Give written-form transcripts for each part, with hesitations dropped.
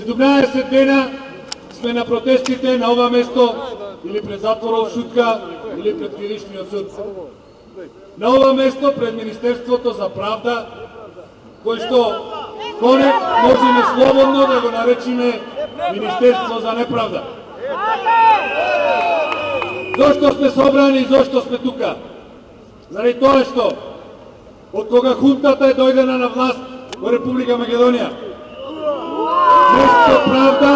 17 дена сме на протестите на ова место, или пред затворот Шутка, или пред Киришниот суд. На ова место пред Министерството за правда, кој што конек можеме слободно да го наречиме Министерство за неправда. Зошто сме собрани и зошто сме тука? Заради тоа што од кога хунтата е дојдена на власт во Република Македонија, место правда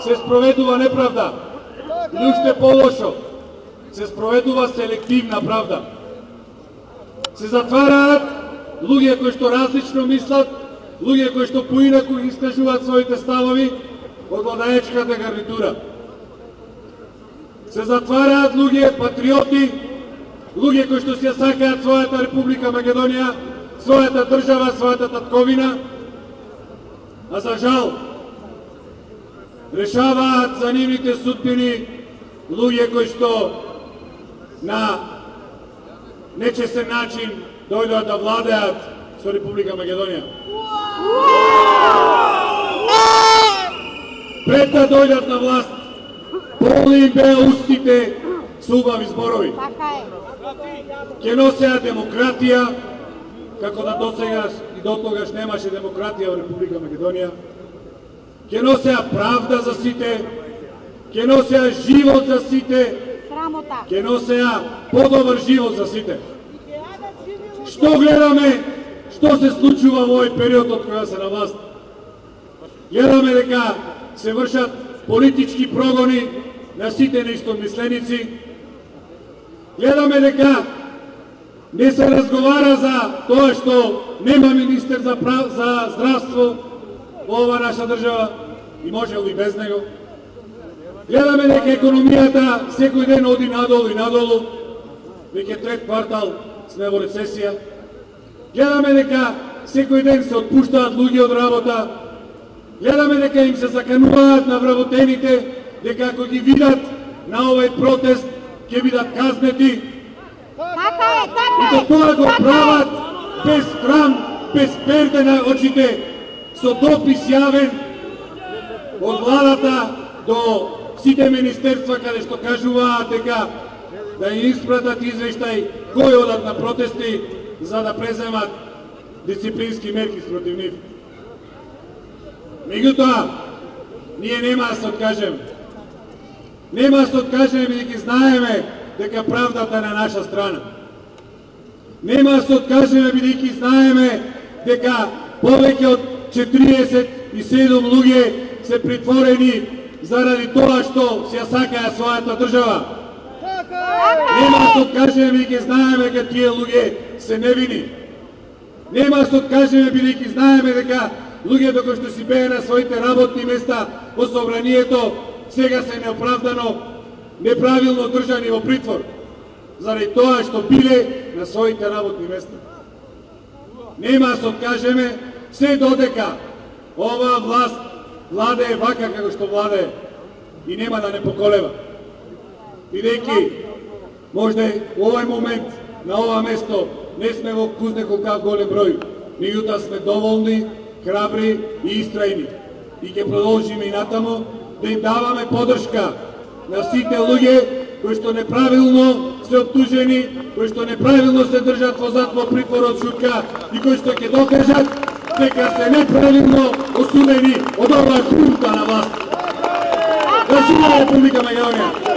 се спроведува неправда. Или уште полошо, се спроведува селективна правда. Се затвараат луѓе кои што различно мислат, луѓе кои што поинаку искажуваат своите ставови од владаечката гарнитура. Се затвараат луѓе патриоти, луѓе кои што си ја сакаат својата Република Македонија, својата држава, својата татковина, а за жал решаваат за нивните судбини луѓе кои што на нечесен начин дојдоа да владеат со Република Македонија. Пред да дојдат на власт, полни им беа устите со убави зборови. Ќе носеа демократија, како да досегаш и дотогаш немаше демократија во Република Македонија. Ќе носеа правда за сите, ќе носеа живот за сите, ќе носеа подобар живот за сите. Што гледаме, што се случува во овој период од кога се на власт? Гледаме дека се вршат политички прогони на сите неистомисленици. Гледаме дека не се разговара за тоа што нема министер за здравство во ова наша држава и можел и без него. Гледаме дека економијата секој ден оди надолу и надолу, веќе трет квартал сме во рецесија. Гледаме дека секој ден се отпуштаат луѓе од работа. Гледаме дека им се закануваат на вработените, дека ако ги видат на овој протест ќе бидат казнети. И до тоа го прават без срам, без перде на очите, со допис јавен од владата до сите министерства каде што кажуваат дека да им испратат извештај кои одат на протести за да преземат дисциплински мерки спротив нив. Меѓутоа, ние нема да се откажеме. Нема да се откажеме бидејќи знаеме дека правдата е на наша страна. Нема да се откажеме бидејќи знаеме дека повеќе од 47 луѓе се притворени заради тоа што се сакаат својата држава. Нема да се откажеме бидејќи знаеме дека тие луѓе се невини. Нема да се откажеме бидејќи знаеме дека луѓето кои што си беа на своите работни места во собранието сега се неоправдано, неправилно држани во притвор заради тоа што биле на своите работни места. Нема да се откажеме се додека ова власт владее вака како што владее и нема да не поколева. Бидејќи можда во овој момент на ова место не сме во кузне колкав голем број, меѓутоа сме доволни, храбри и истрајни. И ќе продолжиме и натамо да им даваме подршка на сите луѓе кои што неправилно се оптужени, кои што неправилно се држат во затвор притворот Шутка и кои што ќе докажат дека се неправилно осудени од оваа хунта на власт. Да живее Република Македонија!